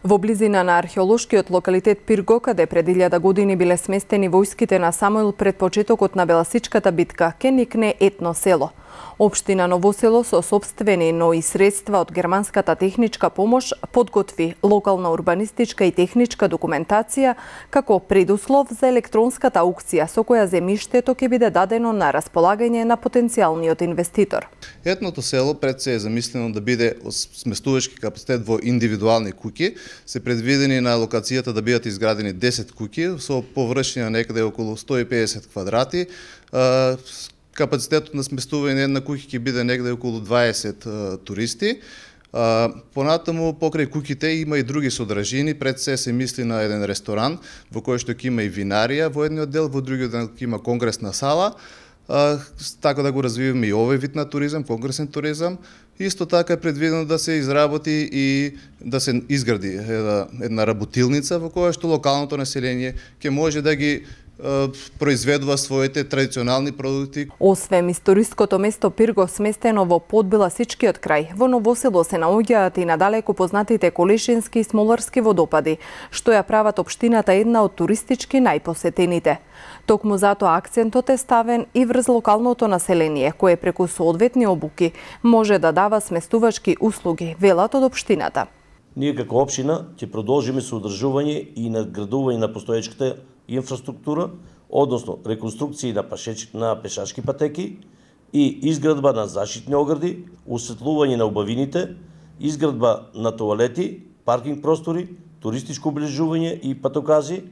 Во близина на археолошкиот локалитет Пирго, каде пред 1000 години биле сместени војските на Самуил пред почетокот на Беласичката битка, ке никне етно село. Општина Новосело со сопствени, но и средства од германската техничка помош подготви локална урбанистичка и техничка документација како предуслов за електронската аукција со која земјиштето ќе биде дадено на располагање на потенцијалниот инвеститор. Етното село пред се е замислено да биде сместувачки капацитет во индивидуални куќи. Се предвидени на локацијата да бидат изградени 10 куќи со површина некаде околу 150 квадрати. Капацитетот на сместување на една куќа ќе биде негде околу 20 туристи. Понатаму покрај куќите има и други содржини. Пред се мисли на еден ресторан во кој што ќе има и винарија во едниот дел, во другиот дел ќе има конгресна сала. Така да го развиваме и овој вид на туризам, конгресен туризам. Исто така е предвидено да се изработи и да се изгради една работилница во која што локалното население ќе може да ги произведува своите традиционални продукти. Освен историското место Пирго, сместено во подбеласичкиот крај, во Новосело се наоѓаат и надалеку познатите Колешински и Смоларски водопади, што ја прават општината една од туристички најпосетените. Токму затоа акцентот е ставен и врз локалното население, кое преку соодветни обуки може да дава сместувачки услуги, велат од општината. Ние како општина ќе продолжиме со одржување и надградување на постоечката инфраструктура, односно реконструкција на пешачки патеки и изградба на заштитни огради, осветлување на убавините, изградба на тоалети, паркинг простори, туристичко облежување и патокази.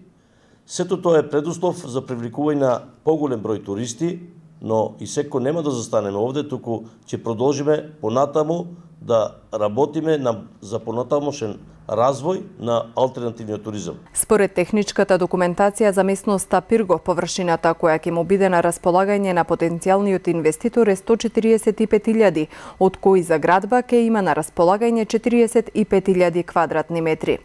Сето тоа е предуслов за привлекување на поголем број туристи, но и секој нема да застанеме овде, туку ќе продолжиме понатаму да работиме за понатамошен развој на алтернативниот туризам. Според техничката документација за местноста Пирго, површината која ќе му биде на располагање на потенцијалниот инвеститор е 145.000, од кои за градба ќе има на располагање 45.000 квадратни метри.